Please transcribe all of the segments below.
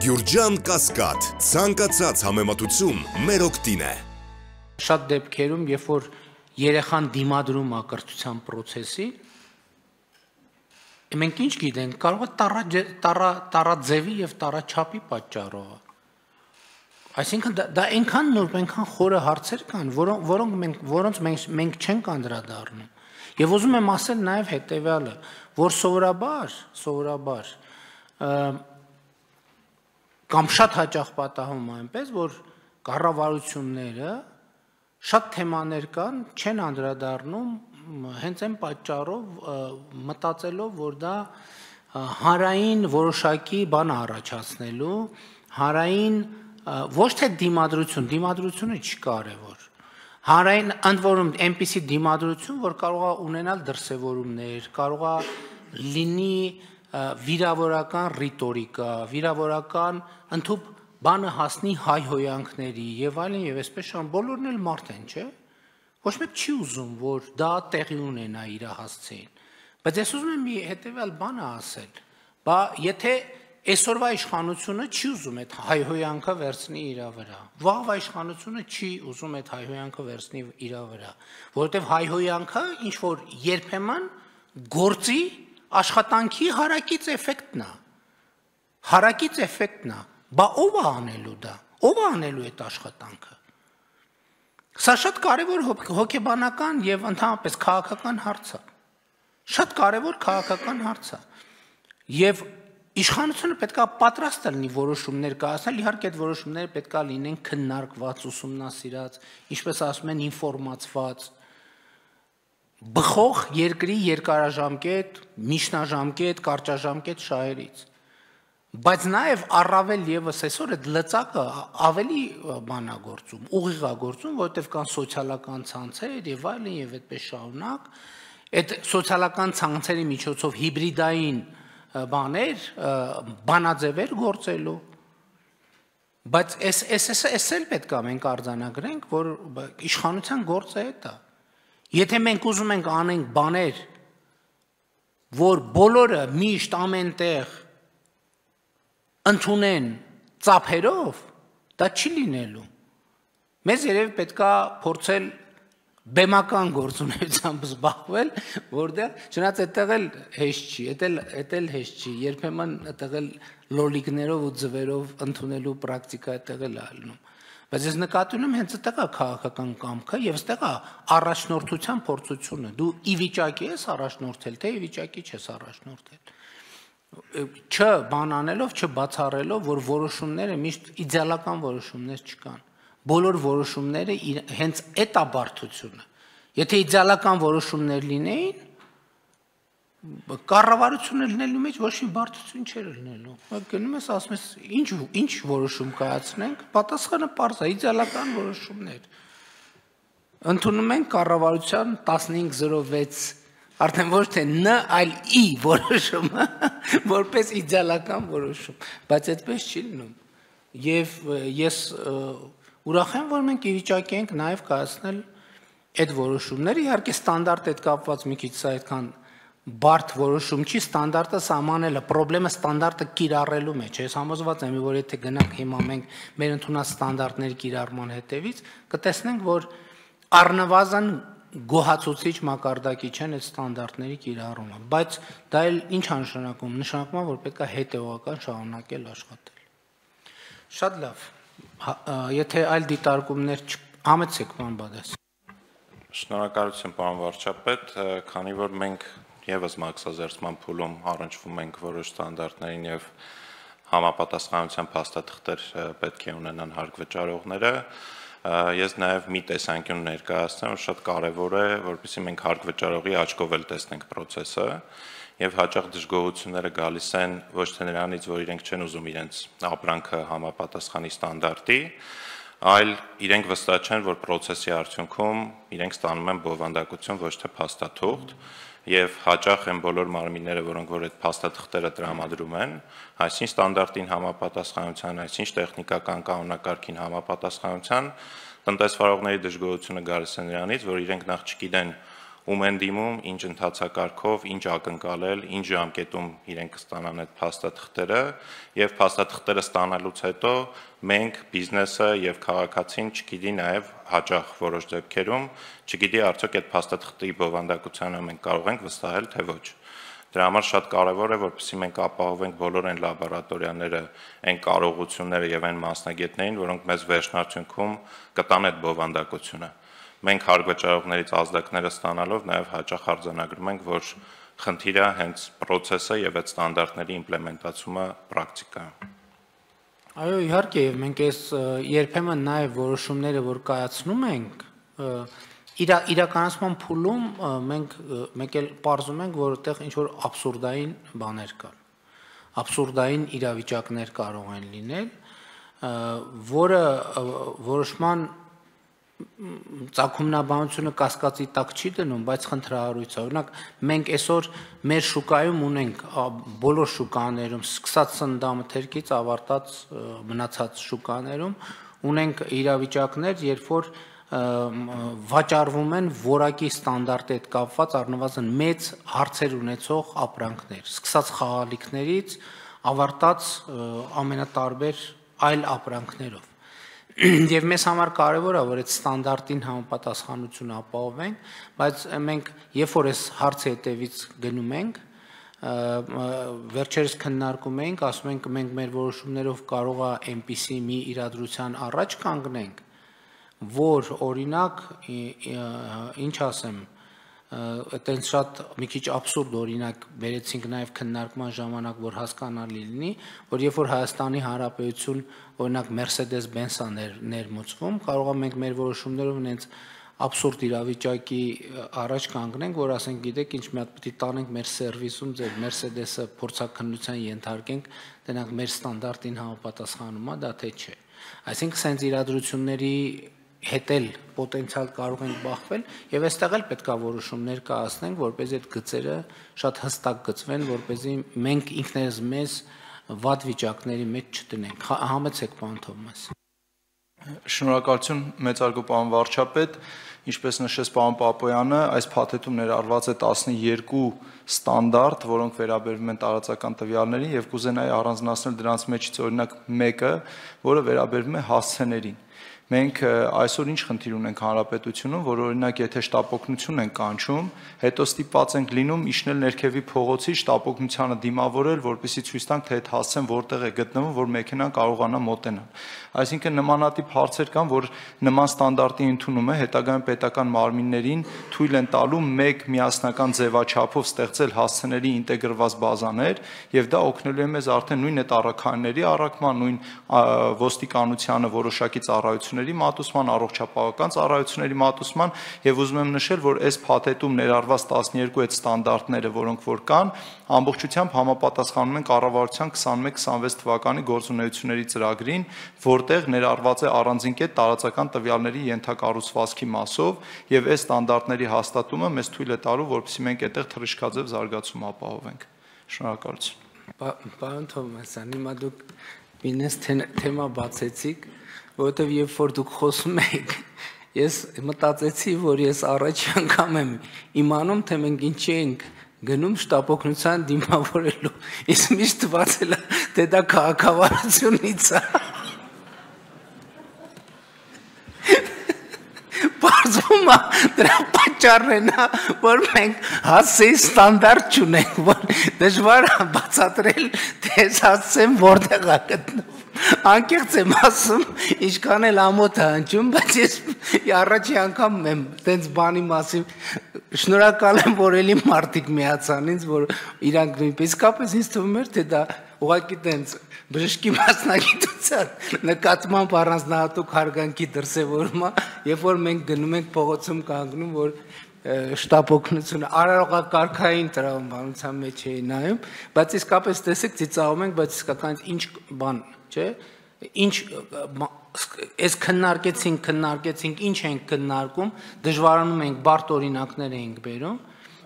Գյուրջան Կասկադ, ցանկացած համեմատություն մեր օգտին է։ Շատ դեպքերում, երբ որ երեխան դիմադրում է կրթության process-ի, մենք ինչ գիտենք, կարող է տարաձևի եւ տարաչափի պատճառով։ Այսինքն դա այնքան նուրբ, այնքան խորը հարցեր կան, որոնց մենք չենք անդրադառնում։ Եվ ուզում եմ ասել նաեւ հետեւյալը, որ սովորաբար կամ շատ հաճախ պատահում է այնպես, որ կառավարությունները շատ թեմաներ կան, չեն անդրադառնում հենց այն պատճառով մտածելով, որ դա հանրային որոշակի բան առաջացնելու, հանրային ոչ թե դիմադրությունը չի կարևոր։ Հանրային ընդ որում այնպիսի դիմադրություն, որ կարող է ունենալ դրսևորումներ, կարող է լինի վիրավորական ռիտորիկա, վիրավորական ընդհանուր բանը հասնի հայհոյանքների եւ այլն եւ այսպես շան բոլորն էլ մարդ են, չէ՞։ Ոչ մեկ չի ուզում, որ դա տեղի ունենա իր հասցեին։ Բայց ես ուզում եմ մի հետեւյալ բանը ասել։ Բա եթե այսօրվա իշխանությունը չի ուզում այդ հայհոյանքը վերցնի իր վրա, վաղվա իշխանությունը չի ուզում այդ հայհոյանքը վերցնի իր վրա, որովհետեւ հայհոյանքը ինչ որ երբեմն գործի աշխատանքի հարակից էֆեկտն է։ Հարակից էֆեկտն է։ Բա ով է անելու դա։ Ով է անելու այդ աշխատանքը։ Սա շատ կարևոր հոգեբանական եւ ընդհանրապես քաղաքական հարց է։ Շատ կարևոր քաղաքական հարց է։ Եվ իշխանությունը պետք է պատրաստ լինի որոշումներ կայացնել, իհարկե այդ որոշումները պետք է լինեն քննարկված, ուսումնասիրած, ինչպես ասում են, ինֆորմացված, բխող երկրի երկարաժամկետ, միջնաժամկետ, կարճաժամկետ շահերից։ Բայց նաև առավել եւս այսօր այդ լծակը ավելի բանագործում, ուղիղագործում, որովհետեւ կան սոցիալական ցանցեր եւ այլն եւ այդպես շարունակ, այդ սոցիալական ցանցերի միջոցով հիբրիդային բաներ, բանաձևեր գործելու։ Բայց այս էլ պետք է մենք արձանագրենք, որ իշխանության գործը է դա։ Եթե մենք ուզում ենք անենք բաներ, որ բոլորը միշտ ամենտեղ ընդունեն ծափերով, դա չի լինելու։ Մեզ երևի պետքա փորձել բեմական գործունեությամբ զբաղվել, որտեղ չնայած այդտեղ էլ հեշտ չի, այդել հեշտ չի, երբեմն այդտեղ էլ լոլիկներով ու ձվերով ընդունելու պրակտիկա այդտեղ էլ ալնում։ Բայց ես նկատի ունեմ հենց այդտեղ է քաղաքական կամքը եւ այդտեղ է առաջնորդության փորձությունը։ Դու ի վիճակի ես առաջնորդել, թե ի վիճակի չես առաջնորդել։ Բան անելով, չբացառելով, որ որոշումները միշտ իդեալական որոշումներ չկան։ Բոլոր որոշումները հենց այդ է բարդությունը։ Եթե իդեալական որոշումներ լինեին, կառավարությունը լինելու մեջ ոչ մի բարդություն չէր լինելու։ Գնում ես ասում ես, ինչ որոշում կայացնենք, պատասխանը պարզ է, իդեալական որոշումներ։ Ընդունում ենք կառավարության 1506 արդեն ոչ թե Ն, այլ ի որոշումը, որպես իդեալական որոշում, բայց այդպես չի լինում։ Եվ ես ուրախ եմ, որ մենք ի վիճակի ենք նաև կայացնել այդ որոշումները, իհարկե ստանդարտ այդ կապված մի քիչ սա այդքան բարդ որոշում չի, ստանդարտը սահմանելը, պրոբլեմը ստանդարտը կիրառելու մեջ է։ Ես համոզված եմ, որ եթե գնանք հիմա մենք մեր ընդունած ստանդարտների կիրառման հետևից, կտեսնենք, որ առնվազն գոհացուցիչ մակարդակի չեն այդ ստանդարտների կիրառումը, բայց դա էլ ինչ է նշանակում, նշանակում է, որ պետք է հետևողական շարունակել աշխատել։ Շատ լավ, եթե այլ դիտարկումներ համեցեք, պարոն Բադաս։ Շնորհակալություն, պարոն վարչապետ, քանի որ մենք եւս մաքսազերծման փուլում առնչվում ենք որոշ ստանդարտներին եւ համապատասխանության փաստաթղթեր պետք է ունենան հարկվճարողները, ես նաև մի տեսանկյուն ներկայացնեմ, որ շատ կարևոր է, որպեսզի մենք հարկվճարողի աչքով էլ տեսնենք process-ը եւ հաճախ դժգոհությունները գալիս են ոչ թե նրանից, որ իրենք չեն ուզում իրենց ապրանքը համապատասխանի ստանդարտի, այլ իրենք վստահ չեն, որ process-ի արդյունքում իրենք ստանում են բովանդակություն, ոչ թե փաստաթուղթ, եւ հաճախ են բոլոր մարմինները, որոնք որ այդ փաստաթղթերը տրամադրում են, այսինքն ստանդարտին համապատասխանության, այսինքն տեխնիկական կանոնակարգին համապատասխանության, տնտեսվարողների դժգոհությունը գալիս է նրանից, որ իրենք նախ չգիտեն ում են դիմում, ինչ ընթացակարգով, ինչ ակնկալել, ինչ ժամկետում իրենք կստանան այդ փաստաթղթերը, եւ փաստաթղթերը ստանալուց հետո մենք բիզնեսը եւ քաղաքացին չգիտի նաեւ հաճախ որոշ դեպքերում չգիտի արդյոք այդ փաստաթղթի բովանդակությանը մենք կարող ենք վստահել թե ոչ։ Դրա համար շատ կարևոր է, որպեսզի մենք ապահովենք բոլոր այն լաբորատորիաները, այն կարողությունները եւ այն մասնագետներին, որոնք մեզ վերջնարդյունքում կտան այդ բովանդակությունը։ Մենք հարգվճարողներից ազդակները ստանալով նաև հաճախ արձանագրում ենք, որ խնդիրը հենց process-ը եւ այդ ստանդարտների իմպլեմենտացումը պրակտիկայում։ Այո, իհարկե, մենք այս երբեմն նաև որոշումները, որ կայացնում ենք, իրականացման փուլում մենք էլ պարզում ենք, որ այդտեղ ինչ-որ աբսուրդային բաներ կան։ Աբսուրդային իրավիճակներ կարող են լինել, որը որոշման ծագումնաբանությունը կասկածի տակ չի դնում, բայց խնդրահարույց է։ Օրինակ, մենք այսօր մեր շուկայում ունենք բոլոր շուկաներում, սկսած սննդամթերքից ավարտած մնացած շուկաներում, ունենք իրավիճակներ, երբ որ վաճառվում են որակի ստանդարտի հետ կապված առնվազն մեծ հարցեր ունեցող ապրանքներ, սկսած խաղալիքներից ավարտած ամենատարբեր այլ ապրանքներով։ Եվ մեզ համար կարևոր է, որ այդ ստանդարտին համապատասխանություն ապահովենք, բայց մենք երբ որ այս հարցի հետևից գնում ենք, վերջերս քննարկում ենք, ասում ենք մենք մեր որոշումներով կարող է այնպիսի մի իրադրության առաջ կանգնենք, որ օրինակ, ինչ ասեմ, այտենց շատ մի քիչ աբսուրդ օրինակ բերեցինք նաև քննարկման ժամանակ, որ հասկանալի լինի, որ երբ որ Հայաստանի Հանրապետություն օրինակ Mercedes-Benz-ը ներմուծվում, կարող է մենք մեր որոշումներով այնց աբսուրդ իրավիճակի առաջ կանգնենք, որ ասենք, գիտեք, ինչ մի հատ պետք է տանենք մեր սերվիսում, ձեր Mercedes-ը փորձաքննության ենթարկենք, դրանք մեր ստանդարտին համապատասխանում է, դա թե չէ։ Այսինքն, սենց իրադրությունների հետ էլ պոտենցիալ կարող ենք բախվել եւ այստեղ էլ պետք է որոշումներ կայացնենք, որպեսզի այդ գծերը շատ հստակ գծվեն, որպեսզի մենք ինքներս մեզ վատ վիճակների մեջ չտնենք։ Համեցեք, պարոն Թովմաս։ Շնորհակալություն, մեծարգո պարոն վարչապետ, ինչպես նշեց պարոն Պապոյանը, այս փաթեթում ներառված է 12 ստանդարտ, որոնք վերաբերում են տարածական տվյալներին եւ կուզենայի առանձնացնել դրանց մեջից օրինակ մեկը, որը վերաբերում է հասցեներին։ Մենք այսօր ինչ խնդիր ունենք հանրապետությունում, որ օրինակ եթե շտապօգնություն են կանչում, հետո ստիպված ենք լինում իջնել ներքևի փողոցի շտապօգնությանը դիմավորել, որպեսզի ցույց տանք, թե այդ հասցեն որտեղ է գտնվում, որ մեքենան կարողանա մոտենալ։ Այսինքն նմանատիպ հարցեր կան, որ նման ստանդարտի ընդունումը հետագայում պետական մարմիններին թույլ են տալու մեկ միասնական ձևաչափով ստեղծել հասցեների ինտեգրված բազաներ, եւ դա օգնելու է մեզ արդեն նույն այդ առաքայինների առաքման, նույն ոստիկանությանը որոշակի ծառայությունների մատուցման, առողջապահական ծառայությունների մատուցման, եւ ուզում եմ նշել, որ այս փաթեթում ներառված 12 այդ ստանդարտները, որոնք որ կան, ամբողջությամբ համապատասխանում են կառավարության 21-26 թվականի գործունեությունների ծրագրին, որտեղ ներառված է առանձին կետ տարածական տվյալների ենթակառուցվածքի մասով, եւ այս ստանդարտների հաստատումը մեզ թույլ է տալու, որպեսզի մենք այդտեղ թռիչքաձև զարգացում ապահովենք։ Շնորհակալություն։ Պարոն Թովմասյան, հիմա դուք ինձ թեմա բացեցիք, որովհետև երբ որ դուք խոսում եք, ես մտածեցի, որ ես առաջի անգամ եմ իմանում, թե մենք ինչի ենք գնում շտապօգնության դիմավորելու։ Իսկ միշտ թվացել է, թե դա քաղաքավարությունից է։ Պարզվում է, դրա պատճառն է, որ մենք հասցեի ստանդարտ չունենք, որ դժվար է բացատրել, թե այս հասցեն որտեղ է գտնվում։ Անկեղծ եմ ասում, ինչքան էլ ամոթ է հնչում, բայց ես առաջի անգամ եմ տենց բանի մասին շնորհակալ եմ, որ էլի մարդիկ միացան ինձ, որ իրանք նույնպես ինձ թվում էր, թե դա ուղղակի տենց բժշկի մասնագիտության նկատմամբ առանձնահատուկ հարգանքի դրսևորում է, երբ որ մենք գնում ենք փողոցում կանգնում, որ շտապօգնությունը արարողակարգային տրամաբանության մեջ էի նայում, բայց իսկապես տեսեք ծիծաղում ենք, բայց իսկական ինչ բան, չէ՞, ինչ այս քննարկեցինք, ինչ ենք քննարկում, դժվարանում ենք, բարդ օրինակներ ենք բերում,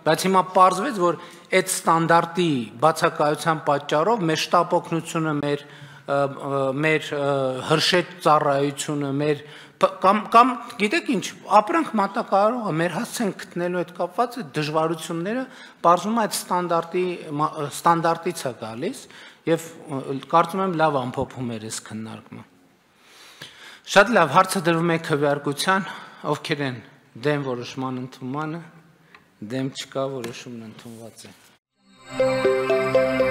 բայց հիմա պարզվեց, որ այդ ստանդարտի բացակայության պատճառով մեր շտապօգնությունը, մեր հրշեջ ծառայությունը, մեր Կամ գիտեք ինչ, ապրանք մատակարարողը մեր հասցեն գտնելու հետ կապված այդ դժվարությունները բարձում այդ ստանդարտից է գալիս եւ կարծում եմ լավ ամփոփում էր այս քննարկումը։ Շատ լավ, հարցը դրվում է քվեարկության, ովքեր են դեմ որոշման ընդունմանը, դեմ չկա, որոշումն ընդունված է։